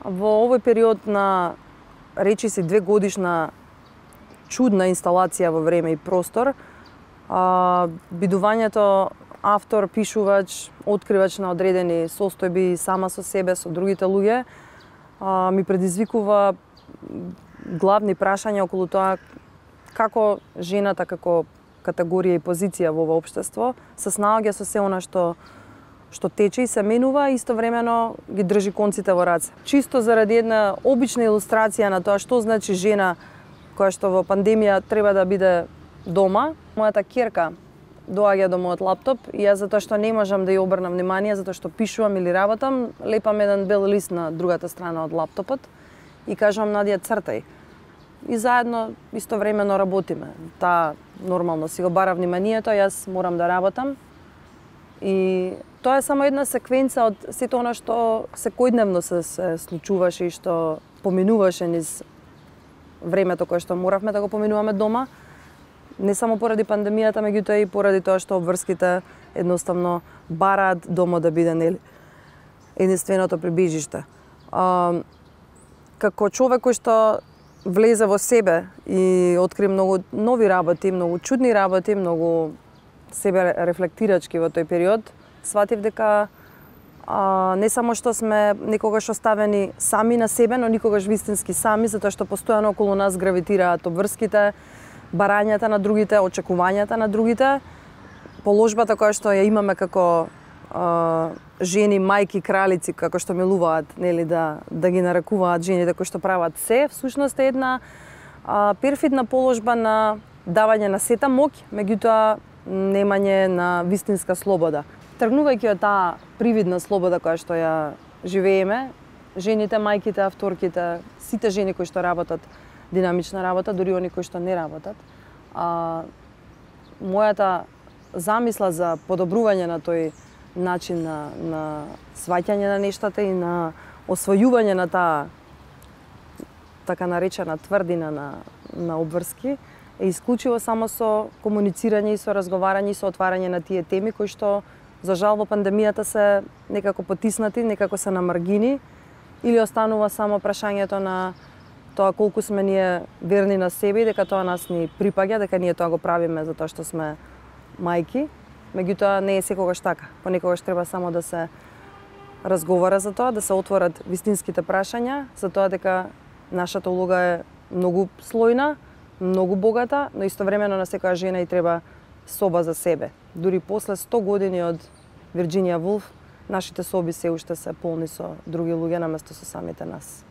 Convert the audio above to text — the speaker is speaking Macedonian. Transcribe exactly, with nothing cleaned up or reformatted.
Во овој период на речиси две годишна чудна инсталација во време и простор, а, бидувањето автор, пишувач, откривач на одредени состојби сама со себе, со другите луѓе, а, ми предизвикува главни прашања околу тоа како жената како категорија и позиција во ова општество се снаоѓа со се она што што тече и се менува, и истовремено ги држи конците во раце. Чисто заради една обична илустрација на тоа што значи жена која што во пандемија треба да биде дома, мојата ќерка доаѓа до мојот лаптоп и јас, затоа што не можам да ја обрнам внимание, затоа што пишувам или работам, лепам еден бел лист на другата страна од лаптопот и кажувам: Надија, цртај. И заедно истовремено работиме. Таа нормално си го бара вниманието, јас морам да работам. И тоа е само една секвенца од сето она што секојдневно се, се случуваше и што поминуваше низ времето кое што моравме да го поминуваме дома. Не само поради пандемијата, меѓутоа и поради тоа што обврските едноставно бараат домот да биде, нели, единственото прибежиште. А, како човек кој што влезе во себе и откри многу нови работи, многу чудни работи, многу себе рефлектирачки во тој период, сватив дека а, не само што сме некогаш оставени сами на себе, но никогаш вистински сами, затоа што постојано околу нас гравитираат обврските, барањата на другите, очекувањата на другите, положбата која што ја имаме како а, жени, мајки, кралици, како што милуваат, нели, да да ги нарекуваат жените кои што прават се, всушност е една а, перфидна положба на давање на сета моќ, меѓутоа немање на вистинска слобода. Тргнувајќи од таа привидна слобода која што ја живееме, жените, мајките, авторките, сите жени кои што работат динамична работа, дури они кои што не работат, а, мојата замисла за подобрување на тој начин на, на сваќање на нештата и на освојување на таа така наречена тврдина на, на обврски е исклучиво само со комуницирање и со разговарање и со отварање на тие теми кои што за жал во пандемијата се некако потиснати, некако се на маргини, или останува само прашањето на тоа колку сме ние верни на себе и дека тоа нас ни припаѓа, дека ние тоа го правиме затоа што сме мајки. Меѓутоа не е секогаш така. Понекогаш треба само да се разговара за тоа, да се отворат вистинските прашања, за тоа дека нашата улога е многу слојна, многу богата, но истовремено на секоја жена и треба соба за себе. Дури после сто години од Вирџинија Вулф, нашите соби се уште се полни со други луѓе наместо со самите нас.